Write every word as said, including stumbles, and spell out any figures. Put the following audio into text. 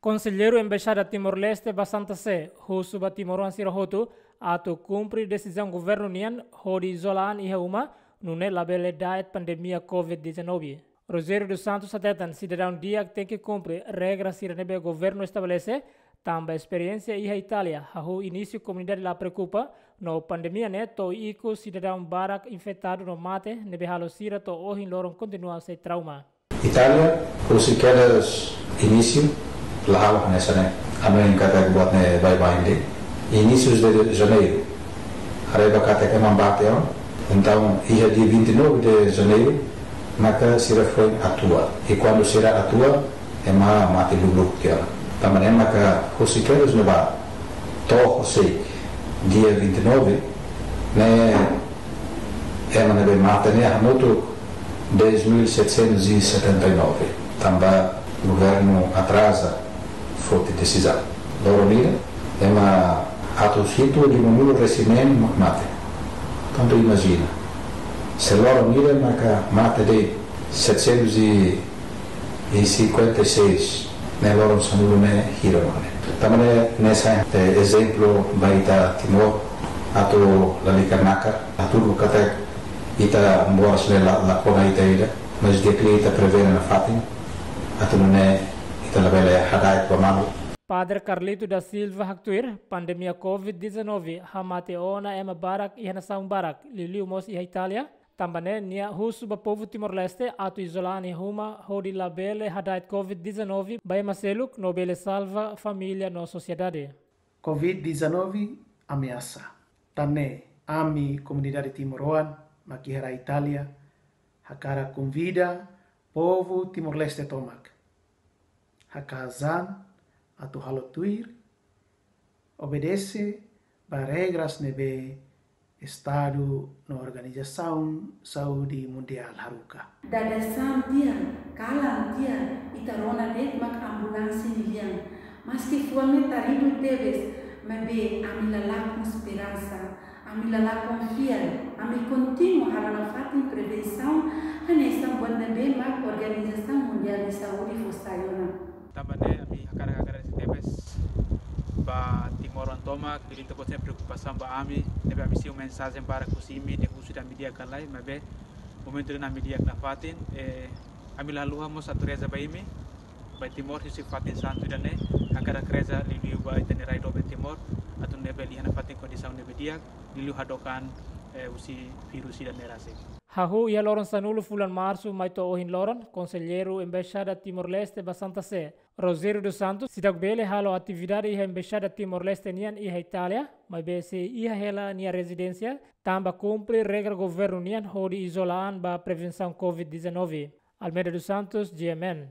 Konselleiru Embaixada Timor-Leste ba Santa Sé husu ba timoroan sira hotu atu kumpre desizaun governu nian hodi izola an iha uma, nune'e labele da'et pandemia covid dezanove. Rogério dos Santos hateten sidadaun di'ak tenke kumpre regra sira ne'ebé governu estabelese, tanba esperiénsia iha Itália hahú inísiu komunidade la preokupa, no pandemia ne'e to'o ikus sidadaun barak infetadu no mate, ne'ebé halo sira to'o ohin loron kontinua sei trauma. Itália, husi kedas inísiu, la halo hanesan ne'e. Hanoin katak buat ne'e baibain de'it. Inísius de Janeiru, haree ba katak ema mate ona. Entaun, iha dia vinte e nove de Janeiro, maka sira foin atua. I kuandu sira atua, ema mate lubluk tiha ona. Tanba ne'e maka husi kedas ne'ebá to'o hosi dia vinte e nove, ne'e ema ne'ebé mate ne'e hamutuk dez mil setecentos e setenta e nove. Tanba governu atraza foti desizaun. Loron ida, ema atus hitu limanulu-resin-neen mak mate. Tantu imajina. Se loron ida maka mate de'it setecentos e cinquenta e seis, ne'e loron sanulu ne'e hira mane. Tanba ne'e, ne'e sai, eh, ezemplu ba ita Timor, atu lalika nakar, atu buka ita moras ne'e la, la kona ita ida, mas di'ak liu ita prevene nafatin, atu nune'e ita labele hada'et ba malu. Padre Carlito da Silva haktuir, pandemia covid dezanove hamate ona ema barak iha nasaun barak, liuliu mós iha Itália. Tanba ne'e nia husu ba povu Timor-Leste atu izola an iha uma hodi labele hada'et covid dezanove ba ema seluk no bele salva família no sosiedade. Covid dezanove ameasa. Tan ne'e, ami komunidade timoroan mak iha rai Itália hakarak konvida povu Timor-Leste tomak haka'as an atu halo tuir, obedese ba regras ne'ebé Estadu no Organizasaun Saúde Mundiál haruka. Dada san tiha, kalan tiha, ita rona de'it mak ambulánsia nia lian. Maski fuan ne'e taridu tebes, maibé ami la lakon esperansa, ami la lakon fiar, ami kontinua halo nafatin prevensaun, hanesan buat ne'ebé mak Organizasaun Mundiál de Saúde fó sai ona. Tanba ne'e ami hakarak agradese tebes ba timoroan tomak, ne'ebé ita-boot sente preokupasaun ba ami, ne'ebé ami simu mensajen barak husi imi, dehan husi ita ami di'ak ka lae, maibé momentu ida-ne'e ami di'ak nafatin, eh, ami la haluha mós atu reza ba imi, ba Timor husi fatin santu ida-ne'e, hakarak reza liuliu ba ita-nia rai doben Timor, atu nune'e bele iha nafatin kondisaun ne'ebé di'ak, liuliu hadook an, eh, husi virus ida-ne'e rasik. Hahú iha loron sanulu fulan Marsu mai to'o ohin loron, Konselleiru Embaixada Timor-Leste ba Santa Sé, Rogério dos Santos, seidauk bele halo atividade iha Embaixada Timor-Leste nian iha Itália, maibé sei iha hela nia rezidénsia, tanba kumpre regra governu nian hodi izola an ba prevensaun covid dezanove. Almeida dos Santos, G M N.